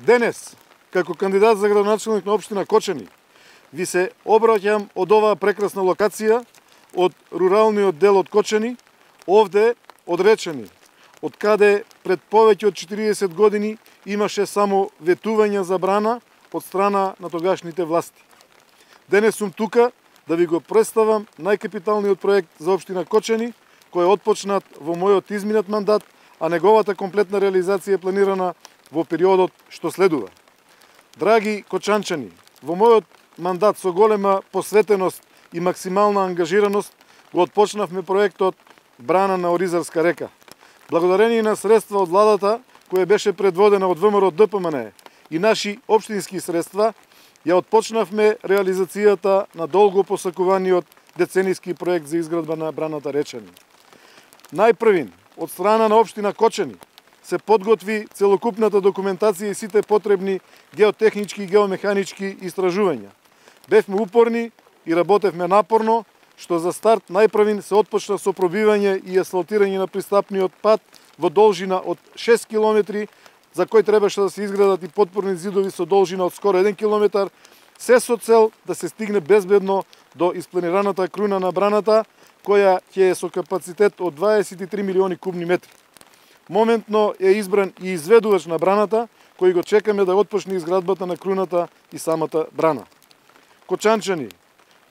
Денес, како кандидат за градоначелник на општина Кочани, ви се обраќам од оваа прекрасна локација, од руралниот дел од Кочани, овде од Речани, од каде пред повеќе од 40 години имаше само ветување за брана од страна на тогашните власти. Денес сум тука да ви го представам најкапиталниот проект за општина Кочани, кој е отпочнат во мојот изминат мандат, а неговата комплетна реализација е планирана во периодот што следува. Драги кочанчани, во мојот мандат со голема посветеност и максимална ангажираност го отпочнавме проектот Брана на Оризарска река. Благодарение на средства од владата, која беше предводена од ВМРО ДПМН и наши општински средства, ја отпочнавме реализацијата на долго посакуваниот деценијски проект за изградба на браната Речани. Најпрвин, од страна на општина Кочани, се подготви целокупната документација и сите потребни геотехнички и геомеханички истражувања. Бевме упорни и работевме напорно, што за старт најпрвин се отпочна со пробивање и асфалтирање на пристапниот пат во должина од 6 км, за кој требаше да се изградат и потпорни зидови со должина од скоро 1 км, се со цел да се стигне безбедно до испланираната круна на браната, која ќе е со капацитет од 23 милиони кубни метри. Моментно е избран и изведувач на браната, кој го чекаме да отпочне изградбата на круната и самата брана. Кочанчани,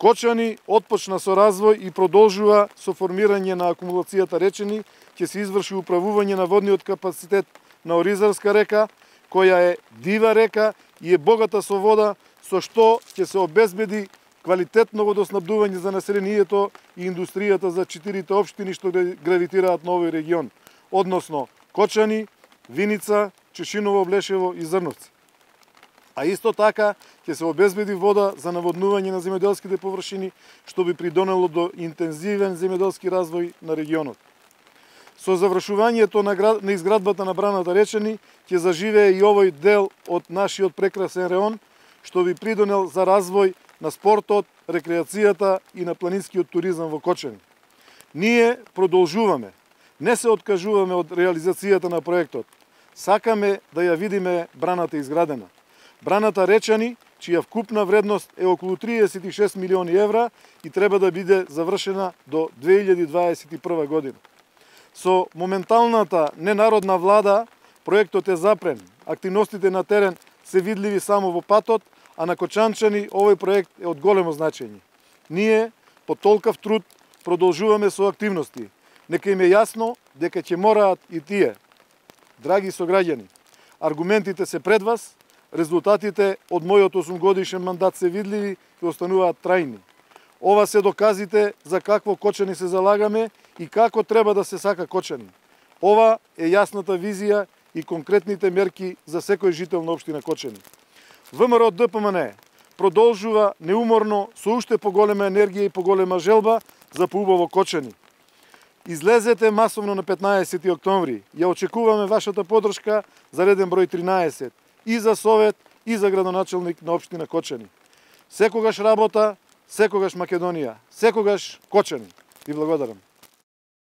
Кочани отпочна со развој и продолжува со формирање на акумулацијата Речани, ќе се изврши управување на водниот капацитет на Оризарска река, која е дива река и е богата со вода, со што ќе се обезбеди квалитетно водоснабдување за населението и индустријата за 4 општини што гравитираат на овој регион, односно Кочани, Виница, Чешиново, Блешево и Зрновци. А исто така ќе се обезбеди вода за наводнување на земјоделските површини, што би придонело до интензивен земјоделски развој на регионот. Со завршувањето на изградбата на браната Речани ќе заживее и овој дел од нашиот прекрасен реон, што би придонел за развој на спортот, рекреацијата и на планинскиот туризам во Кочани. Ние продолжуваме, не се откажуваме од реализацијата на проектот. Сакаме да ја видиме браната изградена. Браната Речани, чија вкупна вредност е околу 36 милиони евра и треба да биде завршена до 2021 година. Со моменталната ненародна влада, проектот е запрен. Активностите на терен се видливи само во патот, а на кочанчани овој проект е од големо значење. Ние, по толкав труд, продолжуваме со активности. Нека им е јасно дека ќе мораат и тие. Драги сограѓани, аргументите се пред вас, резултатите од мојот 8-годишен мандат се видливи и остануваат трајни. Ова се доказите за какво Кочани се залагаме и како треба да се сака Кочани. Ова е јасната визија и конкретните мерки за секој жител на општина Кочани. ВМРО ДПМН продолжува неуморно со уште поголема енергија и поголема желба за поубаво Кочани. Излезете масовно на 15 октомври. Ја очекуваме вашата подршка за реден број 13 и за совет и за градоначелник на општина Кочани. Секогаш работа, секогаш Македонија, секогаш Кочани. Ви благодарам.